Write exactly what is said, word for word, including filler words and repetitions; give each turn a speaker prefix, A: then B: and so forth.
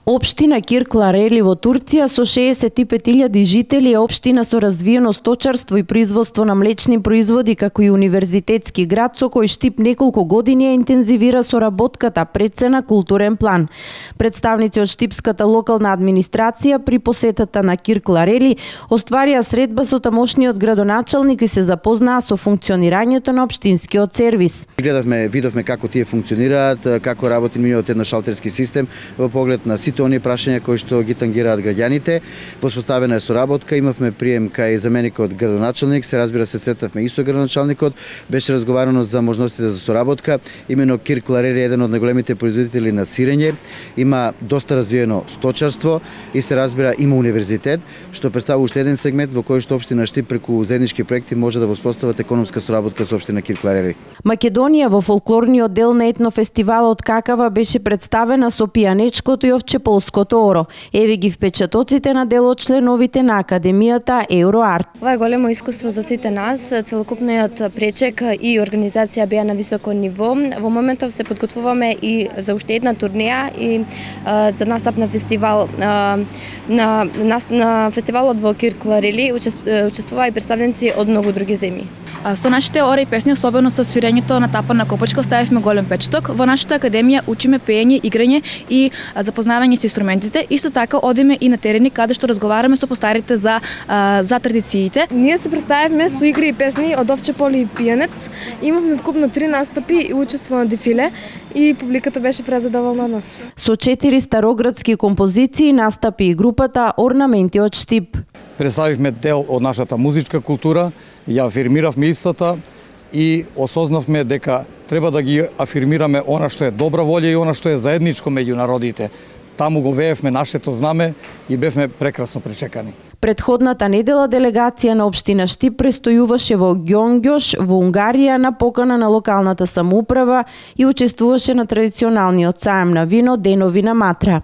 A: Општина Киркларели во Турција со шеесет и пет илјади жители е општина со развиено сточарство и производство на млечни производи, како и универзитетски град со кој Штип неколку години ја интензивира соработката пред се на културен план. Представници од штипската локална администрација при посетата на Киркларели остварија средба со тамошниот градоначалник и се запознаа со функционирањето на општинскиот сервис.
B: Гледавме, видовме како тие функционираат, како работи нивниот едношалтерски систем во поглед на сите оние прашања кои што ги тангираат граѓаните. Воспоставена е соработка, имавме прием кај заменикот градоначалник, се разбира се сретавме и со градоначалникот, беше разговарано за можностите за соработка. Имено Киркларели е еден од најголемите производители на сирење, има доста развиено сточарство и се разбира има универзитет, што представува уште еден сегмент во кој што општина Штип преку заеднички проекти може да воспостават економска соработка со општина Киркларели.
A: Македонија во фолклорниот дел на етнофестивалот Какава беше представена со пијанечкото и овчеполското оро. Еве ги впечатоците на дел од членовите на Академијата Евроарт.
C: Ова е големо искуство за сите нас. Целокупниот пречек и организација беа на високо ниво. Во моментов се подготвуваме и за уште една турнеја и а, за настап на фестивал а, на, на, на фестивалот во Киркларели учествуваа и представници од многу други земји.
D: Со нашите ори и песни, особено со свирењето на тапа на копачка, оставивме голем печаток. Во нашата академија учиме пеење, играње и запознавање со инструментите. Исто така одиме и на терени каде што разговараме со постарите за за традициите.
E: Ние се представивме со игри и песни од овче поле и пијанец. Имавме вкупно три настапи и учество на дефиле и публиката беше презадоволна од нас.
A: Со четири староградски композиции настапи и групата Орнаменти од Штип.
F: Представивме дел од нашата музичка култура, ја афирмиравме истата и осознавме дека треба да ги афирмираме она што е добра волја и она што е заедничко меѓу народите. Таму го веевме нашето знаме и бевме прекрасно пречекани.
A: Предходната недела делегација на општина Штип престојуваше во Ѓонгјош во Унгарија на покана на локалната самоуправа и учествуваше на традиционалниот саем на вино Денови на Матра.